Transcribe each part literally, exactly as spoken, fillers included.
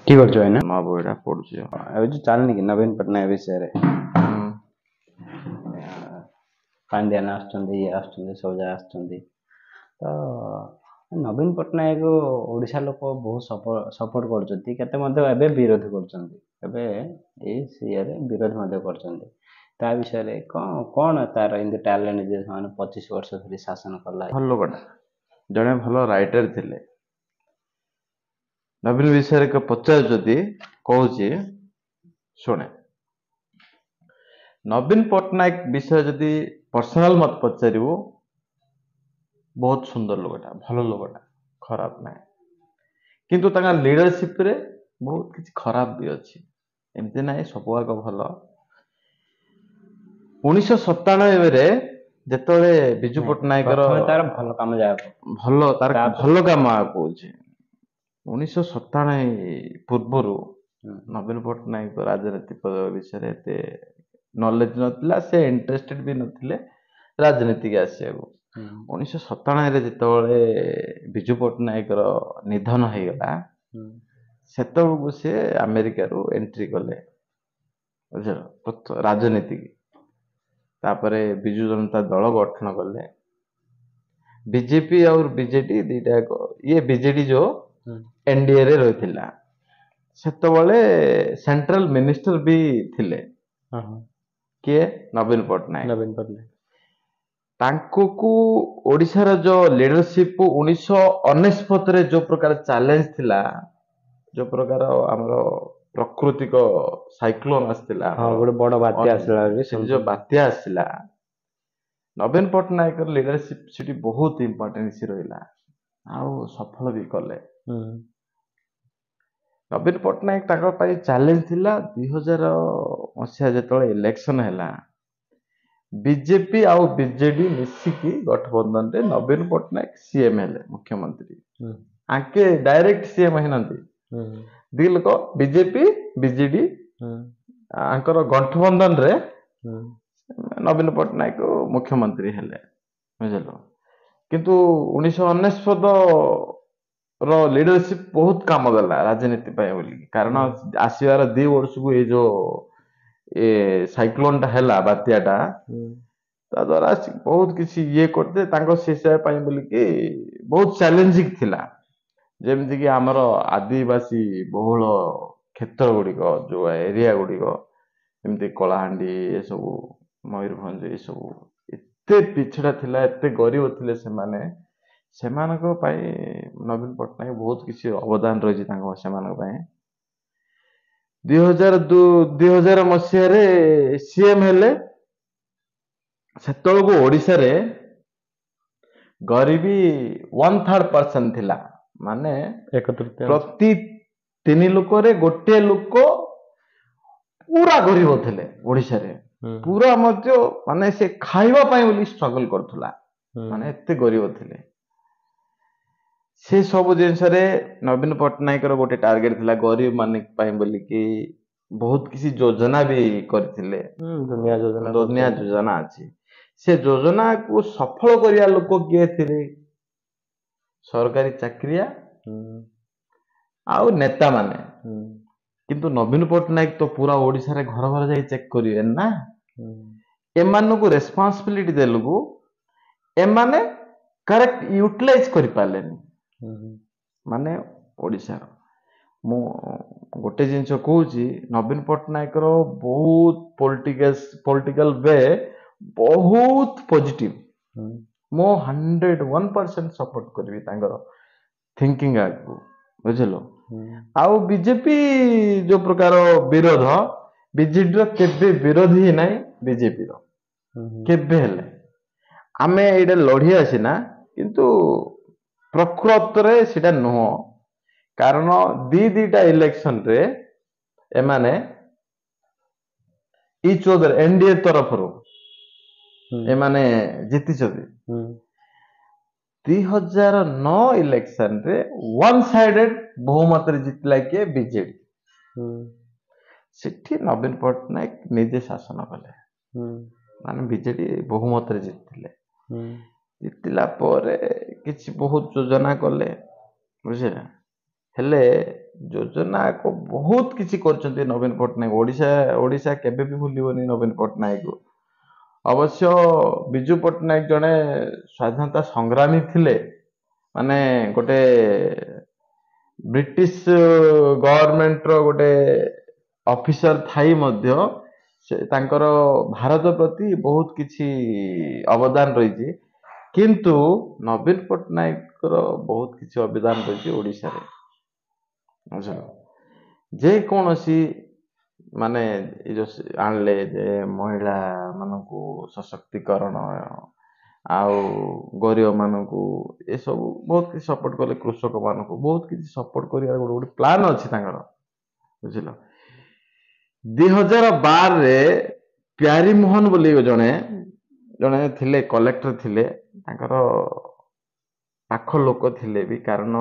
କି କରୁଛ ଭାଇନା? ନୂଆ ବହିଟା ପଢୁଛି। ଏବେ ଯୋଉ ଚାଲିନି କି ନବୀନ ପଟ୍ଟନାୟକ ବିଷୟରେ, ପାଣ୍ଡିଆନ ଆସୁଛନ୍ତି, ଇଏ ଆସୁଛନ୍ତି, ସବୁ ଜାଗା ଆସୁଛନ୍ତି। ତ ନବୀନ ପଟ୍ଟନାୟକ ଓଡ଼ିଶା ଲୋକ ବହୁତ ସପୋର୍ଟ କରୁଛନ୍ତି, କେତେ ମଧ୍ୟ ଏବେ ବିରୋଧ କରୁଛନ୍ତି। ଏବେ ଏଇ ଇଏରେ ବିରୋଧ ମଧ୍ୟ କରୁଛନ୍ତି। ତା ବିଷୟରେ କ'ଣ କ'ଣ ତାର ଏମିତି ଟ୍ୟାଲେଣ୍ଟ ଯେ ସେମାନେ ପଚିଶ ବର୍ଷ ଧରି ଶାସନ କଲା? ଭଲ ଲୋକଟା, ଜଣେ ଭଲ ରାଇଟର ଥିଲେ। ନବୀନ ବିଷୟରେ ପଚାରୁଛନ୍ତି, କହୁଛି ଶୁଣେ। ନବୀନ ପଟ୍ଟନାୟକ ବିଷୟ ଯଦି ପର୍ସନାଲ ମତେ ପଚାରିବୁ, ବହୁତ ସୁନ୍ଦର ଲୋକଟା, ଭଲ ଲୋକଟା, ଖରାପ ନାହିଁ। କିନ୍ତୁ ତାଙ୍କ ଲିଡରସିପରେ ବହୁତ କିଛି ଖରାପ ବି ଅଛି, ଏମିତି ନାହିଁ ସବୁ ଆଗ ଭଲ। ଉଣେଇଶହ ସତାନବେରେ ଯେତେବେଳେ ବିଜୁ ପଟ୍ଟନାୟକର ତାର ଭଲ କାମ ଯାହା ଭଲ, ତାର ଭଲ କାମ କହୁଛି, ଉଣେଇଶହ ସତାନବେ ପୂର୍ବରୁ ନବୀନ ପଟ୍ଟନାୟକ ରାଜନୀତି ବିଷୟରେ ଏତେ ନଲେଜ ନଥିଲା, ସେ ଇଣ୍ଟରେଷ୍ଟେଡ ବି ନଥିଲେ ରାଜନୀତିକି ଆସିବାକୁ। ଉଣେଇଶହ ସତାନବେରେ ଯେତେବେଳେ ବିଜୁ ପଟ୍ଟନାୟକର ନିଧନ ହେଇଗଲା, ସେତେବେଳକୁ ସେ ଆମେରିକାରୁ ଏଣ୍ଟ୍ରି କଲେ, ବୁଝିଲ, ରାଜନୀତିକି। ତାପରେ ବିଜୁ ଜନତା ଦଳ ଗଠନ କଲେ। ବିଜେପି ଆଉ ବିଜେଡି ଦିଟା ଯାକ, ଇଏ ବିଜେଡି ଯୋଉ ଏନଡିଏ ରେ ରହିଥିଲା, ସେତେବେଳେ ସେଣ୍ଟ୍ରାଲ ମିନିଷ୍ଟର ବି ଥିଲେ କିଏ? ନବୀନ ପଟ୍ଟନାୟକ। ନବୀନ ପଟ୍ଟନାୟକ ତାଙ୍କୁ ଓଡ଼ିଶାର ଯୋଉ ଲିଡରସିପ ଉଣେଇଶହ ଅନେଶତରେ ଯୋଉ ପ୍ରକାର ଚ୍ୟାଲେଞ୍ଜ ଥିଲା, ଯୋଉ ପ୍ରକାର ଆମର ପ୍ରାକୃତିକ ସାଇକ୍ଲୋନ ଆସିଥିଲା, ଗୋଟେ ବଡ ବାତ୍ୟା ଆସିଲା, ସେ ଯୋଉ ବାତ୍ୟା ଆସିଲା, ନବୀନ ପଟ୍ଟନାୟକର ଲିଡରସିପ ସେଠି ବହୁତ ଇମ୍ପୋର୍ଟାନ୍ସ ରହିଲା ଆଉ ସଫଳ ବି କଲେ। ନବୀନ ପଟ୍ଟନାୟକ ତାଙ୍କ ପାଇଁ ଚ୍ୟାଲେଞ୍ଜ ଥିଲା। ଦୁଇ ହଜାର ମସିହା ଯେତେବେଳେ ଇଲେକ୍ସନ ହେଲା, ବିଜେପି ଆଉ ବିଜେଡି ମିଶିକି ଗଠବନ୍ଧନରେ ନବୀନ ପଟ୍ଟନାୟକ ସିଏମ ହେଲେ, ମୁଖ୍ୟମନ୍ତ୍ରୀ। ଆଙ୍କେ ଡାଇରେକ୍ଟ ସିଏମ ହେଇନାହାନ୍ତି, ଦି ଲୋକ ବିଜେପି ବିଜେଡି ଆଙ୍କର ଗଠବନ୍ଧନରେ ନବୀନ ପଟ୍ଟନାୟକ ମୁଖ୍ୟମନ୍ତ୍ରୀ ହେଲେ, ବୁଝିଲ। କିନ୍ତୁ ଉଣେଇଶହ ଅନେଶତ ର ଲିଡରସିପ ବହୁତ କାମ ଦେଲା ରାଜନୀତି ପାଇଁ ବୋଲି, କାରଣ ଆସିବାର ଦି ବର୍ଷକୁ ଏଇ ଯୋଉ ଏ ସାଇକ୍ଲୋନ ଟା ହେଲା, ବାତ୍ୟାଟା, ତା ଦ୍ଵାରା ବହୁତ କିଛି ଇଏ କରିଥିଲେ ତାଙ୍କ ସେ ପାଇଁ ବୋଲିକି ବହୁତ ଚ୍ୟାଲେଞ୍ଜିଂ ଥିଲା। ଯେମିତିକି ଆମର ଆଦିବାସୀ ବହୁଳ କ୍ଷେତ୍ର ଗୁଡ଼ିକ, ଯୋଉ ଏରିଆ ଗୁଡ଼ିକ, ଯେମିତି କଳାହାଣ୍ଡି ଏସବୁ, ମୟୂରଭଞ୍ଜ ଏସବୁ ଏତେ ପିଛଡ଼ା ଥିଲା, ଏତେ ଗରିବ ଥିଲେ ସେମାନେ। ସେମାନଙ୍କ ପାଇଁ ନବୀନ ପଟ୍ଟନାୟକ ବହୁତ କିଛି ଅବଦାନ ରହିଛି ତାଙ୍କ ସେମାନଙ୍କ ପାଇଁ। ଦୁଇ ହଜାର ଦୁଇ ହଜାର ମସିହାରେ ସିଏମ ହେଲେ। ସେତେବେଳକୁ ଓଡ଼ିଶାରେ ଗରିବୀ ୱାନ୍ ଥାର୍ଡ ପରସେଣ୍ଟ ଥିଲା, ମାନେ ପ୍ରତି ତିନି ଲୋକରେ ଗୋଟିଏ ଲୋକ ପୁରା ଗରିବ ଥିଲେ ଓଡ଼ିଶାରେ। ପୁରା ମଧ୍ୟ ମାନେ ସେ ଖାଇବା ପାଇଁ ବୋଲି ଷ୍ଟ୍ରଗଲ କରୁଥିଲା, ମାନେ ଏତେ ଗରିବ ଥିଲେ। ସେ ସବୁ ଜିନିଷରେ ନବୀନ ପଟ୍ଟନାୟକର ଗୋଟେ ଟାର୍ଗେଟ ଥିଲା ଗରିବ ମାନଙ୍କ ପାଇଁ ବୋଲିକି ବହୁତ କିଛି ଯୋଜନା ବି କରିଥିଲେ। ଦୁନିଆ ଯୋଜନା, ଦୁନିଆ ଯୋଜନା ଅଛି। ସେ ଯୋଜନାକୁ ସଫଳ କରିବା ଲୋକ କିଏ ଥିଲେ? ସରକାରୀ ଚାକିରିଆ ଆଉ ନେତା ମାନେ। କିନ୍ତୁ ନବୀନ ପଟ୍ଟନାୟକ ତ ପୁରା ଓଡ଼ିଶାରେ ଘର ଘର ଯାଇ ଚେକ୍ କରିବେ ନା। ଏମାନଙ୍କୁ ରେସ୍ପନ୍ସିବିଲିଟି ଦେଲୁକୁ ଏମାନେ କରେକ୍ଟ ୟୁଟିଲାଇଜ କରିପାରିଲେନି। ମାନେ ଓଡ଼ିଶାର ମୁଁ ଗୋଟେ ଜିନିଷ କହୁଛି, ନବୀନ ପଟ୍ଟନାୟକର ବହୁତ ପଲିଟିକାଲ ପଲିଟିକାଲ we ବହୁତ ପଜିଟିଭ। ମୁଁ ହଣ୍ଡ୍ରେଡ ୱାନ୍ ପରସେଣ୍ଟ ସପୋର୍ଟ କରିବି ତାଙ୍କର ଥିଙ୍କିଙ୍ଗ ଆଗକୁ, ବୁଝିଲ। ଆଉ ବିଜେପି ଯୋଉ ପ୍ରକାର ବିରୋଧ, ବିଜେଡିର କେବେ ବିରୋଧୀ ନାହିଁ, ବିଜେପିର କେବେ ହେଲେ। ଆମେ ଏଇଟା ଲଢିଆ ସିନା, କିନ୍ତୁ ପ୍ରକୃତରେ ସେଇଟା ନୁହଁ। କାରଣ ଦି ଦିଟା ଇଲେକ୍ସନରେ ଏମାନେ ଇଚ୍ ଅଦର ଏନଡିଏ ତରଫରୁ ଏମାନେ ଜିତିଛନ୍ତି। ଦୁଇ ହଜାର ନଅ ଇଲେକ୍ସନରେ ୱାନ୍ ସାଇଡେଡ ବହୁମତରେ ଜିତିଲା କିଏ? ବିଜେଡି। ସେଠି ନବୀନ ପଟ୍ଟନାୟକ ନିଜେ ଶାସନ କଲେ, ମାନେ ବିଜେଡି ବହୁମତରେ ଜିତିଥିଲେ। ଜିତିଲା ପରେ କିଛି ବହୁତ ଯୋଜନା କଲେ, ବୁଝିଲେ। ହେଲେ ଯୋଜନା ବହୁତ କିଛି କରିଛନ୍ତି ନବୀନ ପଟ୍ଟନାୟକ। ଓଡ଼ିଶା ଓଡ଼ିଶା କେବେ ବି ଭୁଲିବନି ନବୀନ ପଟ୍ଟନାୟକକୁ। ଅବଶ୍ୟ ବିଜୁ ପଟ୍ଟନାୟକ ଜଣେ ସ୍ୱାଧୀନତା ସଂଗ୍ରାମୀ ଥିଲେ, ମାନେ ଗୋଟେ ବ୍ରିଟିଶ ଗଭର୍ଣମେଣ୍ଟର ଗୋଟେ ଅଫିସର ଥାଇ ମଧ୍ୟ ସେ ତାଙ୍କର ଭାରତ ପ୍ରତି ବହୁତ କିଛି ଅବଦାନ ରହିଛି। କିନ୍ତୁ ନବୀନ ପଟ୍ଟନାୟକର ବହୁତ କିଛି ଅବଦାନ ରହିଛି ଓଡ଼ିଶାରେ, ବୁଝିଲ। ଯେକୌଣସି ମାନେ ଏ ଯୋଉ ଆଣିଲେ ଯେ ମହିଳା ମାନଙ୍କୁ ସଶକ୍ତିକରଣ ଆଉ ଗରିବ ମାନଙ୍କୁ ଏସବୁ ବହୁତ କିଛି ସପୋର୍ଟ କଲେ, କୃଷକ ମାନଙ୍କୁ ବହୁତ କିଛି ସପୋର୍ଟ କରିବାର ଗୋଟେ ଗୋଟେ ପ୍ଲାନ୍ ଅଛି ତାଙ୍କର, ବୁଝିଲ। ଦୁଇ ହଜାର ବାରରେ ପ୍ୟାରୀମୋହନ ବୋଲି ଜଣେ ଜଣେ ଥିଲେ, କଲେକ୍ଟର ଥିଲେ, ତାଙ୍କର ପାଖ ଲୋକ ଥିଲେ ବି, କାରଣ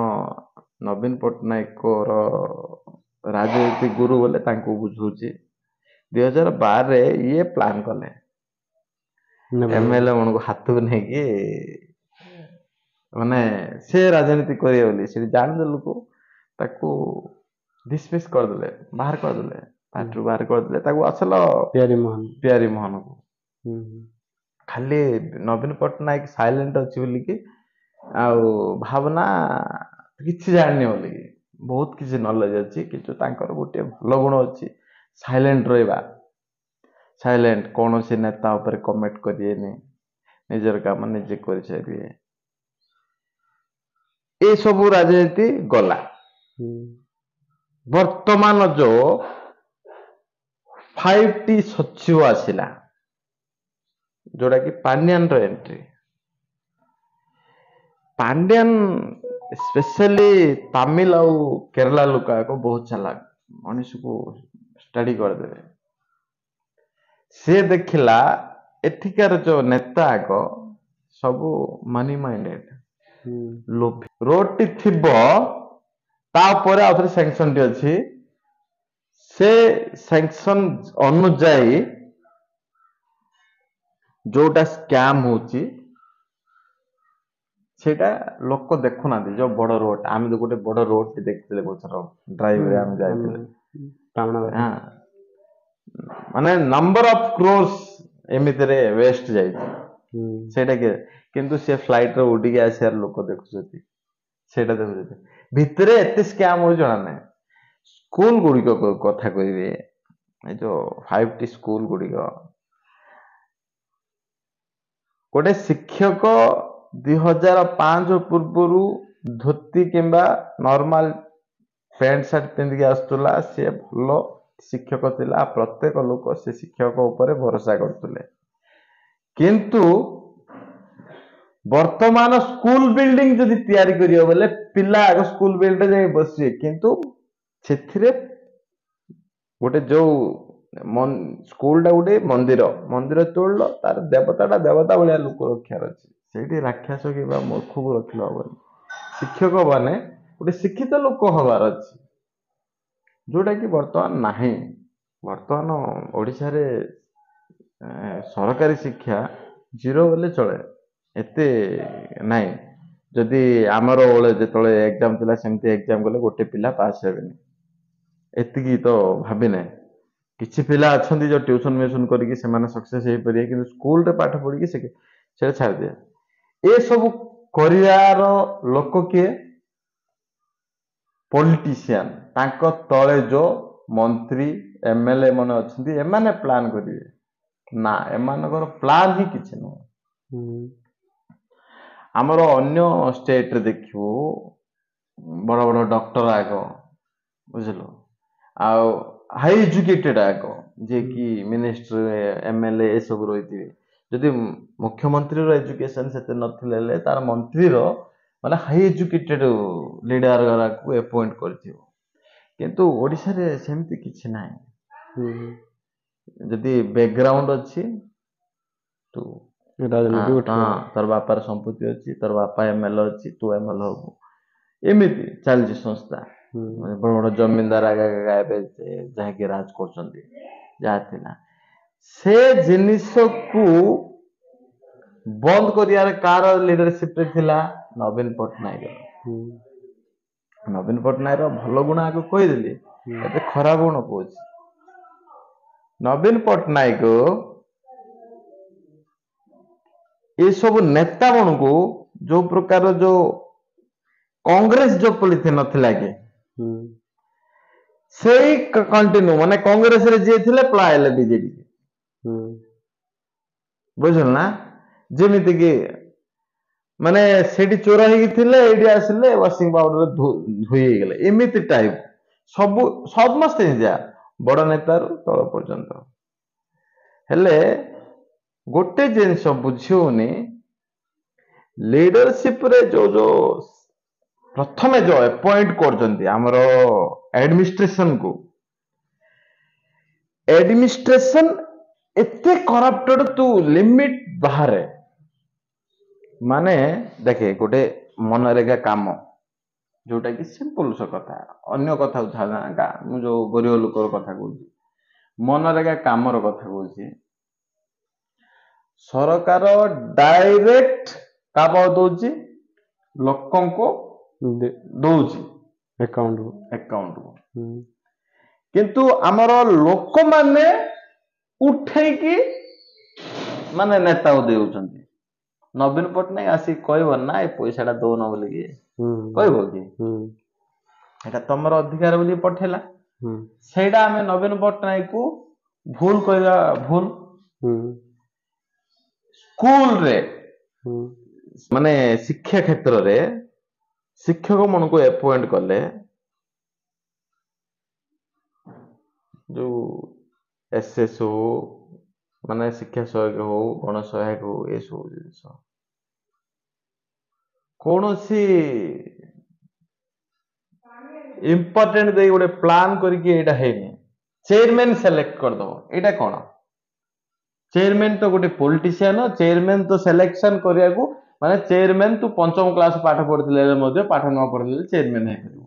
ନବୀନ ପଟ୍ଟନାୟକର ରାଜନୀତି ଗୁରୁ ବୋଲେ ତାଙ୍କୁ ବୁଝଉଛି। ଦୁଇ ହଜାର ବାରରେ ଇଏ ପ୍ଲାନ୍ କଲେ ଏମଏଲଏ ମାନଙ୍କୁ ହାତକୁ ନେଇକି ମାନେ ସେ ରାଜନୀତି କରିବେ ବୋଲି। ସେଠି ଜାଣିଲେ ଲୋକ, ତାକୁ ଡିସମିସ୍ କରିଦେଲେ, ବାହାର କରିଦେଲେ, ପାର୍ଟିରୁ ବାହାର କରିଦେଲେ ତାକୁ। ଅସଲ ପ୍ୟାରୀମୋହନ ପ୍ୟାରୀମୋହନକୁ ଖାଲି ନବୀନ ପଟ୍ଟନାୟକ ସାଇଲେଣ୍ଟ ଅଛି ବୋଲିକି ଆଉ ଭାବନା କିଛି ଜାଣିନି ବୋଲିକି, ବହୁତ କିଛି ନଲେଜ ଅଛି, କିନ୍ତୁ ତାଙ୍କର ଗୋଟିଏ ଭଲ ଗୁଣ ଅଛି, ସାଇଲେଣ୍ଟ ରହିବା। ସାଇଲେଣ୍ଟ, କୌଣସି ନେତା ଉପରେ କମେଣ୍ଟ କରିବେନି, ନିଜର କାମ ନିଜେ କରିଚାଲିବେ। ଏସବୁ ରାଜନୀତି ଗଲା। ବର୍ତ୍ତମାନ ଯୋଉ ଫାଇଭ ଟି ସଚିବ ଆସିଲା, ଯୋଉଟା କି ପାଣ୍ଡିଆନର ଏଣ୍ଟ୍ରି। ପାଣ୍ଡିଆନ ସ୍ପେଶାଲି ତାମିଲ ଆଉ କେରଳା ଲୋକ ଆକ ବହୁତ ଚାଲାକ, ମଣିଷକୁ ଷ୍ଟଡି କରିଦେବେ। ସେ ଦେଖିଲା ଏଠିକାର ଯୋଉ ନେତା ଆଗ ସବୁ ମନି ମାଇଣ୍ଡେଡ, ଲୋଭି। ରୋଡଟି ଥିବ, ତାପରେ ଆଉ ଥରେ ସାଙ୍କସନଟି ଅଛି, ସେ ସାଙ୍କସନ ଅନୁଯାୟୀ ଯୋଉଟା ସ୍କାମ ହଉଛି ସେଇଟା ଲୋକ ଦେଖୁନାହାନ୍ତି। ଯୋଉ ବଡ ରୋଡ, ଆମେ ତ ଗୋଟେ ବଡ ରୋଡ ଦେଖିଥିଲେ କୋଉଥର ଡ୍ରାଇଭରେ ଆମେ ଯାଇଥିଲେ, ହଁ, ମାନେ ନମ୍ବର ଅଫ କ୍ରୋର୍ସ ଏମିତିରେ ୱେଷ୍ଟ ଯାଇଛି ସେଇଟା କି, କିନ୍ତୁ ସେ ଫ୍ଲାଇଟ ରେ ଉଡିକି ଆସିବାର ଲୋକ ଦେଖୁଛନ୍ତି, ସେଇଟା ଦେଖୁଛନ୍ତି। ଭିତରେ ଏତେ ସ୍କାମ ହଉଛି ଜଣା ନାହିଁ। ସ୍କୁଲ ଗୁଡିକ କଥା କହିବେ, ଏ ଯୋଉ ଫାଇଭ ଟି ସ୍କୁଲ ଗୁଡିକ, ଗୋଟେ ଶିକ୍ଷକ ଦୁଇ ହଜାର ପାଞ୍ଚ ପୂର୍ବରୁ ଧୋତି କିମ୍ବା ନର୍ମାଲ ପ୍ୟାଣ୍ଟ ସାର୍ଟ ପିନ୍ଧିକି ଆସୁଥିଲା, ସିଏ ଭଲ ଶିକ୍ଷକ ଥିଲା, ପ୍ରତ୍ୟେକ ଲୋକ ସେ ଶିକ୍ଷକ ଉପରେ ଭରସା କରୁଥିଲେ। କିନ୍ତୁ ବର୍ତ୍ତମାନ ସ୍କୁଲ ବିଲ୍ଡିଂ ଯଦି ତିଆରି କରିବ ବୋଲେ ପିଲା ଆଗ ସ୍କୁଲ ବିଲ୍ଡିଂ ଯାଇ ବସିବେ, କିନ୍ତୁ ସେଥିରେ ଗୋଟେ ଯୋଉ ସ୍କୁଲଟା ଗୋଟେ ମନ୍ଦିର, ମନ୍ଦିର ତୋଳିଲ ତାର ଦେବତାଟା ଦେବତା ଭଳିଆ ଲୋକ ରଖିବାର ଅଛି, ସେଇଠି ରାକ୍ଷସ କିମ୍ବା ମୂର୍ଖକୁ ରଖିଲେ ହବନି। ଶିକ୍ଷକ ମାନେ ଗୋଟେ ଶିକ୍ଷିତ ଲୋକ ହବାର ଅଛି, ଯୋଉଟା କି ବର୍ତ୍ତମାନ ନାହିଁ। ବର୍ତ୍ତମାନ ଓଡ଼ିଶାରେ ସରକାରୀ ଶିକ୍ଷା ଜିରୋ ବୋଲେ ଚଳେ, ଏତେ ନାହିଁ। ଯଦି ଆମର ବେଳେ ଯେତେବେଳେ ଏକ୍ଜାମ ଥିଲା ସେମିତି ଏକ୍ଜାମ କଲେ ଗୋଟେ ପିଲା ପାସ୍ ହେବେନି, ଏତିକି ତ ଭାବିନେ। କିଛି ପିଲା ଅଛନ୍ତି ଯୋଉ ଟ୍ୟୁସନ ମ୍ୟୁସନ କରିକି ସେମାନେ ସକ୍ସେସ ହେଇପାରିବେ, କିନ୍ତୁ ସ୍କୁଲରେ ପାଠ ପଢିକି ସେ ସେଟା ଛାଡ଼ିଦିଏ। ଏସବୁ କରିବାର ଲୋକ କିଏ? ପଲିଟିସିଆନ, ତାଙ୍କ ତଳେ ଯୋଉ ମନ୍ତ୍ରୀ ଏମଏଲଏ ମାନେ ଅଛନ୍ତି, ଏମାନେ ପ୍ଲାନ୍ କରିବେ ନା, ଏମାନଙ୍କର ପ୍ଲାନ୍ ହିଁ କିଛି ନୁହଁ। ଆମର ଅନ୍ୟ ଷ୍ଟେଟରେ ଦେଖିବୁ ବଡ ବଡ ଡକ୍ଟର ଆଗ, ବୁଝିଲୁ, ଆଉ ହାଇ ଏଜୁକେଟେଡ ଆଗ, ଯିଏକି ମିନିଷ୍ଟର ଏମଏଲଏ ଏସବୁ ରହିଥିବେ। ଯଦି ମୁଖ୍ୟମନ୍ତ୍ରୀର ଏଜୁକେସନ ସେତେ ନଥିଲେ ହେଲେ ତାର ମନ୍ତ୍ରୀର ମାନେ ହାଇ ଏଜୁକେଟେଡ ଲିଡର ଗୁଡାକୁ ଆପଏଣ୍ଟ କରିଥିବ। କିନ୍ତୁ ଓଡ଼ିଶାରେ ସେମିତି କିଛି ନାହିଁ। ଯଦି ବ୍ୟାକଗ୍ରାଉଣ୍ଡ ଅଛି, ତୁ ତୋର ବାପାର ସମ୍ପତ୍ତି ଅଛି, ତୋର ବାପା ଏମଏଲଏ ଅଛି, ତୁ ଏମଏଲଏ ହବୁ, ଏମିତି ଚାଲିଛି ସଂସ୍ଥା। ବଡ ବଡ ଜମିଦାର ଆଗା ଏବେ ଯାହାକି ରାଜ କରୁଛନ୍ତି, ଯାହା ଥିଲା ସେ ଜିନିଷକୁ ବନ୍ଦ କରିବାର କାର ଲିଡରସିପରେ ଥିଲା ନବୀନ ପଟ୍ଟନାୟକ। ନବୀନ ପଟ୍ଟନାୟକର ଭଲ ଗୁଣ ଆଗ କହିଦେଲି, ଏବେ ଖରାପ ଗୁଣ କହୁଛି। ନବୀନ ପଟ୍ଟନାୟକ ଏସବୁ ନେତା ମାନଙ୍କୁ ଯୋଉ ପ୍ରକାର ଯୋଉ କଂଗ୍ରେସ ଯୋଉ ପଲିସି ନଥିଲା କି, ସେଇ କଣ୍ଟିନ୍ୟୁ, ମାନେ କଂଗ୍ରେସରେ ଯିଏ ଥିଲେ ପଳାଇଲେ ବିଜେଡି, ବୁଝିଲ ନା? ଯେମିତି କି ମାନେ ସେଠି ଚୋର ହେଇକି ଥିଲେ, ଏଇଠି ଆସିଲେ ୱାସିଂ ପାଉଡର ଧୋଇ ହେଇଗଲେ, ଏମିତି ଟାଇପ ସବୁ ସମସ୍ତେ ଯା ବଡ ନେତାରୁ ତଳ ପର୍ଯ୍ୟନ୍ତ। ହେଲେ ଗୋଟେ ଜିନିଷ ବୁଝି ହଉନି, ଲିଡରସିପ ରେ ଯୋଉ ଯୋଉ ପ୍ରଥମେ ଯୋଉ ଆପଏଣ୍ଟ କରୁଛନ୍ତି ଆମର ଆଡମିନିଷ୍ଟ୍ରେସନ କୁ, ଆଡମିନିଷ୍ଟ୍ରେସନ ଏତେ କରପ୍ଟେଡ ତୁ ଲିମିଟ ବାହାରେ। ମାନେ ଦେଖେ, ଗୋଟେ ମନରେଗା କାମ ଯୋଉଟା କି ସିମ୍ପଲ ସ କଥା, ଅନ୍ୟ କଥା ଛାଡ, ମୁଁ ଯୋଉ ଗରିବ ଲୋକର କଥା କହୁଛି, ମନରେଗା କାମର କଥା କହୁଛି, ସରକାର ଡାଇରେକ୍ଟ କାହା ପାଖକୁ ଦଉଛି? ଲୋକଙ୍କୁ ଦଉଛି ଆକାଉଣ୍ଟ ଆକାଉଣ୍ଟକୁ। କିନ୍ତୁ ଆମର ଲୋକମାନେ ଉଠେଇକି ମାନେ ନେତାକୁ ଦେଉଛନ୍ତି। ନବୀନ ପଟ୍ଟନାୟକ ଆସିକି କହିବ ନା ଏ ପଇସାଟା ଦଉନ ବୋଲିକି କହିବ କି? ଏଟା ତମର ଅଧିକାର ବୋଲି ପଠେଇଲା। ସେଇଟା ଆମେ ନବୀନ ପଟ୍ଟନାୟକକୁ ଭୁଲ କହିବା ଭୁଲ। ସ୍କୁଲରେ ମାନେ ଶିକ୍ଷା କ୍ଷେତ୍ରରେ ଶିକ୍ଷକ ମାନଙ୍କୁ ଆପଏଣ୍ଟ କଲେ, ଯୋଉ ଏସ୍ ଏସ୍ ହଉ, ମାନେ ଶିକ୍ଷା ସହାୟକ ହଉ, ଗଣ ସହାୟକ ହଉ, ଏସବୁ ଜିନିଷ କୌଣସି ଇମ୍ପୋର୍ଟାଣ୍ଟ ଦେଇ ଗୋଟେ ପ୍ଲାନ୍ କରିକି ଏଇଟା ହେଇନି। ଚେୟାରମ୍ୟାନ ସିଲେକ୍ଟ କରିଦବ, ଏଇଟା କଣ? ଚେୟାରମ୍ୟାନ ତ ଗୋଟେ ପଲିଟିସିଆନ, ଚେୟାରମ୍ୟାନ ତ ସିଲେକ୍ସନ କରିବାକୁ, ମାନେ ଚେୟାରମ୍ୟାନ ତୁ ପଞ୍ଚମ କ୍ଲାସ ପାଠ ପଢିଥିଲେ ମଧ୍ୟ, ପାଠ ନ ପଢିଲେ ଚେୟାରମ୍ୟାନ ହେଇପାରିବ।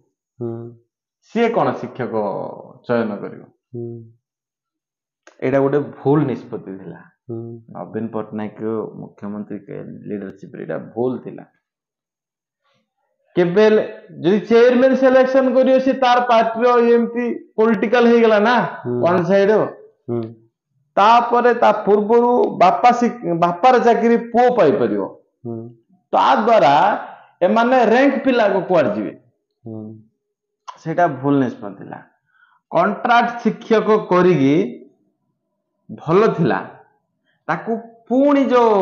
ସିଏ କଣ ଶିକ୍ଷକ ଚୟନ କରିବ? ଏଇଟା ଗୋଟେ ଭୁଲ ନିଷ୍ପତ୍ତି ଥିଲା ନବୀନ ପଟ୍ଟନାୟକ ମୁଖ୍ୟମନ୍ତ୍ରୀ ଲିଡରସିପରେ, ଏଇଟା ଭୁଲ ଥିଲା। କେବେ ହେଲେ ଯଦି ଚେୟାରମ୍ୟାନ ସିଲେକ୍ସନ କରିବ, ସେ ତାର ପାର୍ଟିର ଏମିତି ପଲିଟିକାଲ ହେଇଗଲା ନା ୱାନ୍ ସାଇଡ। ତାପରେ ତା ପୂର୍ବରୁ ବାପା ବାପାର ଚାକିରି ପୁଅ ପାଇପାରିବ, ତା ଦ୍ଵାରା ଏମାନେ ର୍ୟାଙ୍କ ପିଲାକୁ କୁଆଡେ ଯିବେ? ସେଇଟା ଭୁଲ ନିଷ୍ପତ୍ତି ଥିଲା। କଣ୍ଟ୍ରାକ୍ଟ ଶିକ୍ଷକ କରିକି ଭଲ ଥିଲା, ତାକୁ ପୁଣି ଯୋଉ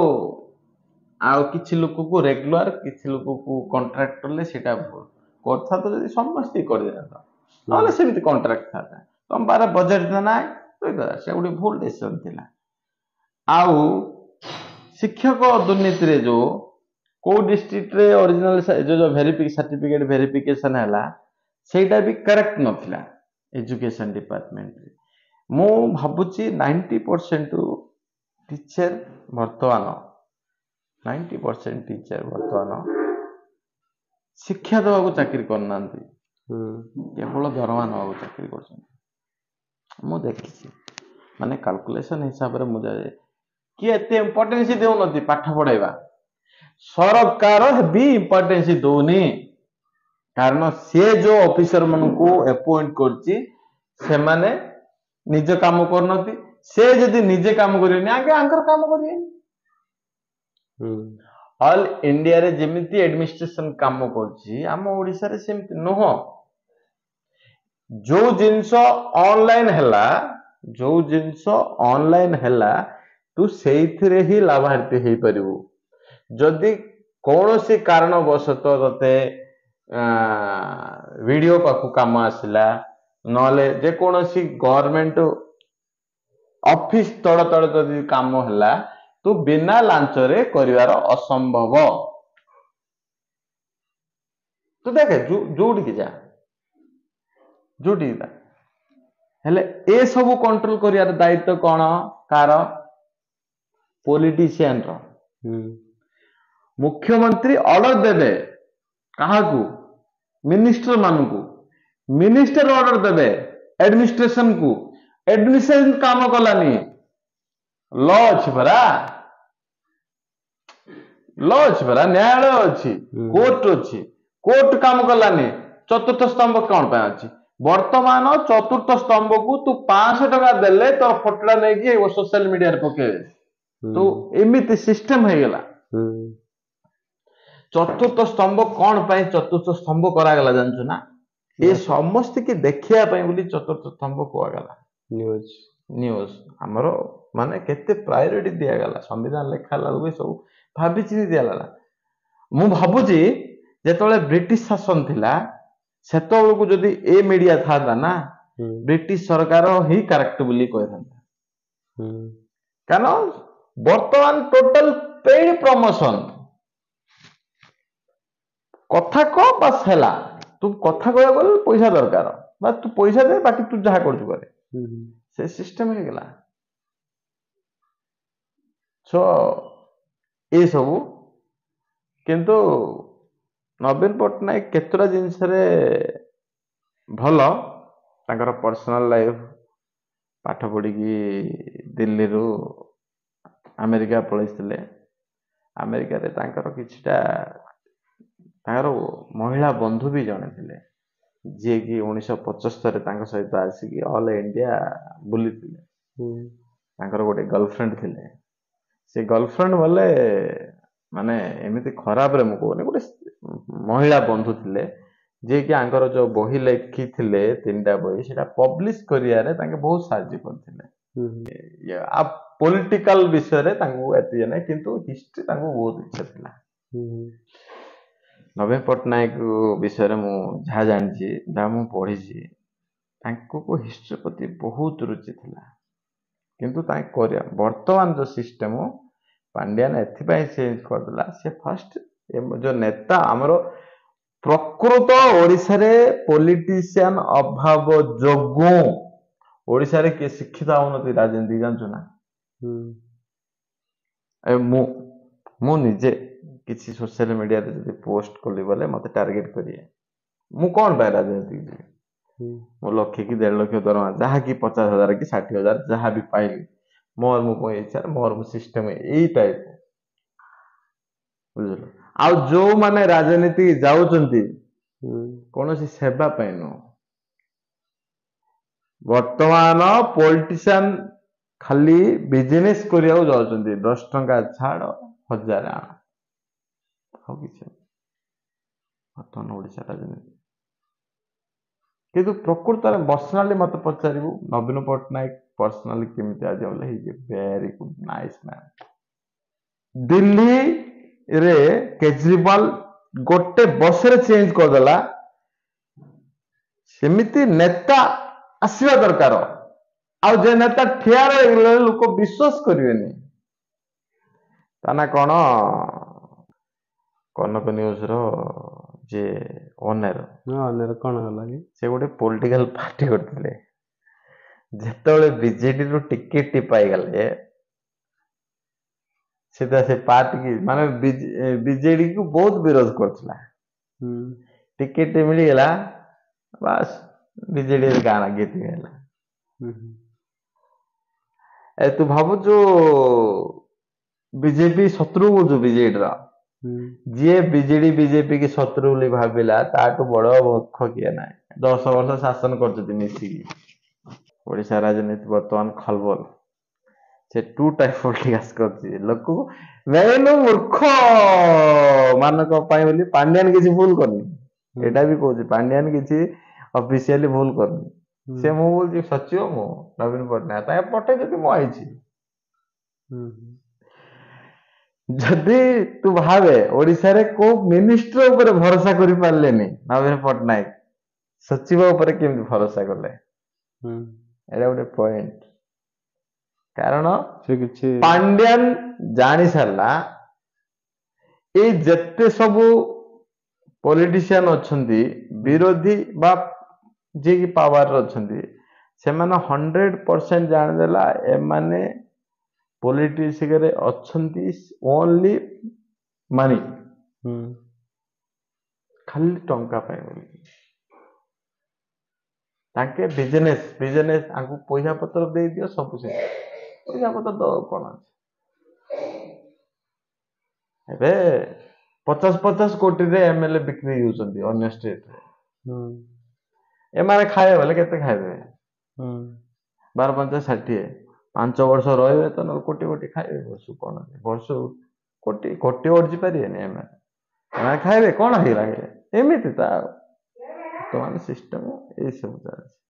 ଆଉ କିଛି ଲୋକକୁ ରେଗୁଲାର, କିଛି ଲୋକକୁ କଣ୍ଟ୍ରାକ୍ଟ କଲେ ସେଇଟା ଭୁଲ କଥା। ତ ଯଦି ସମସ୍ତେ କରିଦେଇଥାନ୍ତ, ନହେଲେ ସେମିତି କଣ୍ଟ୍ରାକ୍ଟ ଥାନ୍ତା, ତମ ପାଖରେ ବଜେଟ ନାହିଁ, ସେ ଗୋଟେ ଭୁଲ ଡିସିସନ ଥିଲା। ଆଉ ଶିକ୍ଷକ ଦୁର୍ନୀତିରେ ଯୋଉ କୋଉ ଡିଷ୍ଟ୍ରିକ୍ଟରେ ଅରିଜିନାଲ ଯୋଉ ଭେରିଫି ସାର୍ଟିଫିକେଟ ଭେରିଫିକେସନ ହେଲା, ସେଇଟା ବି କରେକ୍ଟ ନଥିଲା ଏଜୁକେସନ ଡିପାର୍ଟମେଣ୍ଟରେ। ମୁଁ ଭାବୁଛି ନାଇଣ୍ଟି ପରସେଣ୍ଟ ଟିଚର ବର୍ତ୍ତମାନ, ନାଇଣ୍ଟି ପରସେଣ୍ଟ ଟିଚର ବର୍ତ୍ତମାନ ଶିକ୍ଷା ଦେବାକୁ ଚାକିରି କରୁନାହାନ୍ତି, କେବଳ ଦରମା ନେବାକୁ ଚାକିରି କରୁଛନ୍ତି। ମୁଁ ଦେଖିଛି, ମାନେ କାଲକୁଲେସନ ହିସାବରେ ମୁଁ ଯାଏ, କିଏ ଏତେ ଇମ୍ପୋର୍ଟାନ୍ସ ଦେଉନାହାନ୍ତି ପାଠ ପଢେଇବା, ସରକାର ବି ଇମ୍ପୋର୍ଟାନ୍ସ ଦଉନି। କାରଣ ସିଏ ଯୋଉ ଅଫିସର ମାନଙ୍କୁ ଆପଏଣ୍ଟ କରୁଛି, ସେମାନେ ନିଜ କାମ କରୁନାହାନ୍ତି। ସେ ଯଦି ନିଜେ କାମ କରିବେନି, ଆଗେ ଆଙ୍କର କାମ କରିବେନି। ଅଲ୍ ଇଣ୍ଡିଆରେ ଯେମିତି ଆଡମିନିଷ୍ଟ୍ରେସନ କାମ କରୁଛି, ଆମ ଓଡିଶାରେ ସେମିତି ନୁହଁ। ଯୋଉ ଜିନିଷ ଅନଲାଇନ ହେଲା, ଯୋଉ ଜିନିଷ ଅନଲାଇନ ହେଲା, ତୁ ସେଇଥିରେ ହିଁ ଲାଭାର୍ଥୀ ହେଇପାରିବୁ। ଯଦି କୌଣସି କାରଣବଶତଃ ତତେ ଭିଡିଓ ପାଖକୁ କାମ ଆସିଲା, ନହେଲେ ଯେକୌଣସି ଗଭର୍ଣମେଣ୍ଟ ଅଫିସ ତଳ ତଳେ ଯଦି କାମ ହେଲା, ତୁ ବିନା ଲାଞ୍ଚରେ କରିବାର ଅସମ୍ଭବ। ତୁ ଦେଖେ, ଯୋଉଠିକି ଯା, ଯୋଉଠିକି ଯା, ହେଲେ ଏସବୁ କଣ୍ଟ୍ରୋଲ କରିବାର ଦାୟିତ୍ୱ କଣ କାର? ପଲିଟିସିଆନ ର। ମୁଖ୍ୟମନ୍ତ୍ରୀ ଅର୍ଡର ଦେବେ କାହାକୁ? ମିନିଷ୍ଟର ମାନଙ୍କୁ। ମିନିଷ୍ଟର ଅର୍ଡର ଦେବେ ଆଡମିନିଷ୍ଟ୍ରେସନ କୁ। ଆଡମିନିଷ୍ଟ୍ରେସନ କାମ କଲାନି, ଲ ଅଛି ପରା, ଲ ଅଛି ପରା, ନ୍ୟାୟାଳୟ ଅଛି, କୋର୍ଟ ଅଛି, କୋର୍ଟ କାମ କଲାନି, ଚତୁର୍ଥ ସ୍ତମ୍ଭ କଣ ପାଇଁ ଅଛି? ବର୍ତ୍ତମାନ ଚତୁର୍ଥ ସ୍ତମ୍ଭକୁ ତୁ ପାଞ୍ଚଶହ ଟଙ୍କା ଦେଲେ ତୋର ଫଟୋଟା ନେଇକି ସୋସିଆଲ ମିଡିଆରେ ପକେଇବେ। ତୁ ଏମିତି ସିଷ୍ଟମ ହେଇଗଲା। ଚତୁର୍ଥ ସ୍ତମ୍ଭ କଣ ପାଇଁ ଚତୁର୍ଥ ସ୍ତମ୍ଭ କରାଗଲା ଜାଣିଛୁ ନା? ଏ ସମସ୍ତିକି ଦେଖିବା ପାଇଁ ବୋଲି ଚତୁର୍ଥ ସ୍ତମ୍ଭ କୁହାଗଲା। ନ୍ୟୁଜ ନ୍ୟୁଜ ଆମର ମାନେ କେତେ ପ୍ରାୟୋରିଟି ଦିଆଗଲା ସମ୍ବିଧାନ ଲେଖା ହେଲା ବେଳକୁ ସବୁ ଭାବିଚିନ୍ତି ଦିଆଗଲା। ମୁଁ ଭାବୁଛି ଯେତେବେଳେ ବ୍ରିଟିଶ ଶାସନ ଥିଲା ସେତେବେଳକୁ ଯଦି ଏ ମିଡିଆ ଥାନ୍ତା ନା, ବ୍ରିଟିଶ ସରକାର ହିଁ କରେକ୍ଟ ବୋଲି କହିଥାନ୍ତା। କାରଣ ବର୍ତ୍ତମାନ ଟୋଟାଲ ପେଡ୍ ପ୍ରମୋସନ, କଥା କହ ବାସ୍ ହେଲା। ତୁ କଥା କହିବାକୁ ଗଲେ ପଇସା ଦରକାର, ବା ତୁ ପଇସା ଦେ, ବାକି ତୁ ଯାହା କରୁଛୁ କରେ, ସେ ସିଷ୍ଟମ ହେଇଗଲା। ସୋ ଏସବୁ କିନ୍ତୁ ନବୀନ ପଟ୍ଟନାୟକ କେତେଟା ଜିନିଷରେ ଭଲ, ତାଙ୍କର ପର୍ସନାଲ ଲାଇଫ, ପାଠ ପଢିକି ଦିଲ୍ଲୀରୁ ଆମେରିକା ପଳେଇଥିଲେ। ଆମେରିକାରେ ତାଙ୍କର କିଛିଟା ତାଙ୍କର ମହିଳା ବନ୍ଧୁ ବି ଜଣେ ଥିଲେ, ଯିଏକି ଉଣେଇଶହ ପଚସ୍ତରରେ ତାଙ୍କ ସହିତ ଆସିକି ଅଲ୍ ଇଣ୍ଡିଆ ବୁଲିଥିଲେ। ତାଙ୍କର ଗୋଟେ ଗର୍ଲଫ୍ରେଣ୍ଡ ଥିଲେ। ସେ ଗର୍ଲଫ୍ରେଣ୍ଡ ବୋଲେ ମାନେ ଏମିତି ଖରାପରେ ମୁଁ କହୁନି, ଗୋଟେ ମହିଳା ବନ୍ଧୁ ଥିଲେ ଯିଏକି ଆଙ୍କର ଯୋଉ ବହି ଲେଖିଥିଲେ ତିନିଟା ବହି, ସେଟା ପବ୍ଲିଶ କରିବାରେ ତାଙ୍କେ ବହୁତ ସାହାଯ୍ୟ କରିଥିଲେ। ଆଉ ପଲିଟିକାଲ ବିଷୟରେ ତାଙ୍କୁ ଏତେ ଇଏ ନାହିଁ, କିନ୍ତୁ ହିଷ୍ଟ୍ରି ତାଙ୍କୁ ବହୁତ ଇଚ୍ଛା ଥିଲା। ନବୀନ ପଟ୍ଟନାୟକ ବିଷୟରେ ମୁଁ ଯାହା ଜାଣିଛି, ଯାହା ମୁଁ ପଢିଛି, ତାଙ୍କୁ ହିଷ୍ଟ୍ରି ପ୍ରତି ବହୁତ ରୁଚି ଥିଲା। କିନ୍ତୁ ତାଙ୍କ କରିବା ବର୍ତ୍ତମାନ ଯୋଉ ସିଷ୍ଟମ ପାଣ୍ଡିଆନ ଏଥିପାଇଁ ଚେଞ୍ଜ କରିଦେଲା। ସେ ଫାଷ୍ଟ ଯୋଉ ନେତା ଆମର ପ୍ରକୃତ ଓଡ଼ିଶାରେ ପଲିଟିସିଆନ ଅଭାବ ଯୋଗୁଁ ଓଡ଼ିଶାରେ କିଏ ଶିକ୍ଷିତ ହଉନନ୍ତି ରାଜନୀତି, ଜାଣିଛୁ ନା? ଏ ମୁଁ ମୁଁ ନିଜେ କିଛି ସୋସିଆଲ ମିଡିଆରେ ଯଦି ପୋଷ୍ଟ କଲି ବୋଲେ ମତେ ଟାର୍ଗେଟ କରିବେ। ମୁଁ କଣ ପାଇଁ ରାଜନୀତିକି ଯିବି? ମୁଁ ଲକ୍ଷେ କି ଦେଢ ଲକ୍ଷ ଦରମା ଯାହାକି ପଚାଶ ହଜାର କି ଷାଠିଏ ହଜାର ଯାହା ବି ପାଇଲି, ମୋର ମୁଁ ମୋ ଇଚ୍ଛାରେ ମୋର ମୁଁ ସିଷ୍ଟମ ଏଇ ଟାଇପ, ବୁଝିଲ? ଆଉ ଯୋଉମାନେ ରାଜନୀତି ଯାଉଛନ୍ତି କୌଣସି ସେବା ପାଇଁ ନୁହଁ। ବର୍ତ୍ତମାନ ପଲିଟିସିଆନ ଖାଲି ବିଜନେସ କରିବାକୁ ଯାଉଛନ୍ତି। ଦଶ ଟଙ୍କା ଛାଡ, ହଜାର ଆଣ, ଆଉ କିଛି ବର୍ତ୍ତମାନ ଓଡ଼ିଶା ରାଜନୀତି। କିନ୍ତୁ ପ୍ରକୃତରେ ପର୍ସନାଲି ମତେ ପଚାରିବୁ ନବୀନ ପଟ୍ଟନାୟକ ପର୍ସନାଲି କେମିତି ଆଜି ବୋଲେ, he is a very good nice man. ଦିଲ୍ଲୀରେ କେଜରିୱାଲ ଗୋଟେ ବର୍ଷରେ ଚେଞ୍ଜ କରିଦେଲା। ସେମିତି ନେତା ଆସିବା ଦରକାର। ଆଉ ଯେ ନେତା ଠିଆ ରହିଗଲେ ଲୋକ ବିଶ୍ୱାସ କରିବେନି। ତା ନା କଣ, କନକ ନ୍ୟୁଜ ର ଯିଏ ଓନର, ଓନର କଣ ହେଲା କି? ସେ ଗୋଟେ ପଲିଟିକାଲ ପାର୍ଟି କରିଥିଲେ। ଯେତେବେଳେ ବିଜେଡିରୁ ଟିକେଟ ପାଇଗଲେ, ସେ ତା ସେ ପାର୍ଟି କି ମାନେ ବିଜେଡି କୁ ବହୁତ ବିରୋଧ କରୁଥିଲା। ଟିକେଟ ମିଳିଗଲା, ବାସ୍ ବିଜେଡି ଗାଁ ଗୀତ ହେଲା। ଏ ତୁ ଭାବୁଛୁ ବିଜେପି ଶତ୍ରୁ କହୁଛୁ ବିଜେଡିର? ଯିଏ ବିଜେଡି ବିଜେପି କି ଶତ୍ରୁ ବୋଲି ଭାବିଲା ତାଠୁ ବଡ ମୂର୍ଖ କିଏ ନାହିଁ। ଦଶ ବର୍ଷ ଶାସନ କରୁଛନ୍ତି ମିଶିକି। ଓଡ଼ିଶା ରାଜନୀତି ବର୍ତ୍ତମାନ ଖଲବଲ। ସେ ଟୁ ଟାଇପ ପଲିଟିକାସ କରୁଛି ଲୋକକୁ ମେନ ମୂର୍ଖ ମାନଙ୍କ ପାଇଁ ବୋଲି। ପାଣ୍ଡିଆନ କିଛି ଭୁଲ କରିନି, ଏଇଟା ବି କହୁଛି, ପାଣ୍ଡିଆନ କିଛି ଅଫିସିଆଲି ଭୁଲ କରିନି। ସେ ମୁଁ କହୁଛି ସଚିବ, ମୁଁ ନବୀନ ପଟ୍ଟନାୟକ ତାଙ୍କ ପଠେଇ ଯଦି ମୁଁ ଆଇଛି। ଯଦି ତୁ ଭାବେ ଓଡ଼ିଶାରେ କୋଉ ମିନିଷ୍ଟର ଉପରେ ଭରସା କରିପାରିଲେନି ନବୀନ ପଟ୍ଟନାୟକ, ସଚିବ ଉପରେ କେମିତି ଭରସା କଲେ? ଏଇଟା ଗୋଟେ ପଏଣ୍ଟ। କାରଣ ସେ କିଛି ପାଣ୍ଡିଆନ ଜାଣି ସାରିଲା ଏଇ ଯେତେ ସବୁ ପଲିଟିସିଆନ ଅଛନ୍ତି ବିରୋଧୀ ବା ଯିଏକି ପାୱାରରେ ଅଛନ୍ତି, ସେମାନେ ହଣ୍ଡ୍ରେଡ ପରସେଣ୍ଟ ଜାଣିଦେଲା ଏମାନେ ପଲିଟିକ୍ସରେ ଅଛନ୍ତି ଓନ୍ଲି ମନି, ଖାଲି ଟଙ୍କା ପାଇଁ ବୋଲି। ତାଙ୍କେ ବିଜନେସ ବିଜନେସ ଆଙ୍କୁ ପଇସା ପତ୍ର ଦେଇଦିଅ, ସବୁ ସେ ପଇସା ପତ୍ର ଦବାକୁ କଣ ଅଛି। ଏବେ ପଚାଶ ପଚାଶ କୋଟିରେ ଏମଏଲଏ ବିକ୍ରି ହେଉଛନ୍ତି ଅନ୍ୟ ଷ୍ଟେଟରେ। ହୁଁ ଏମାନେ ଖାଇବେ ବୋଲେ କେତେ ଖାଇବେ? ହୁଁ ବାର ପାଞ୍ଚ ଷାଠିଏ, ପାଞ୍ଚ ବର୍ଷ ରହିବେ ତ ନହେଲେ କୋଟି କୋଟି ଖାଇବେ ବର୍ଷକୁ। କଣ ବର୍ଷକୁ କୋଟି କୋଟି ଅର୍ଜି ପାରିବେନି ଏମାନେ? ଏମାନେ ଖାଇବେ କଣ ହେଇଗଲା ଏମିତି ତ ଆଉ ବର୍ତ୍ତମାନ ସିଷ୍ଟମ ଏଇସବୁ ଚାଲିଛି।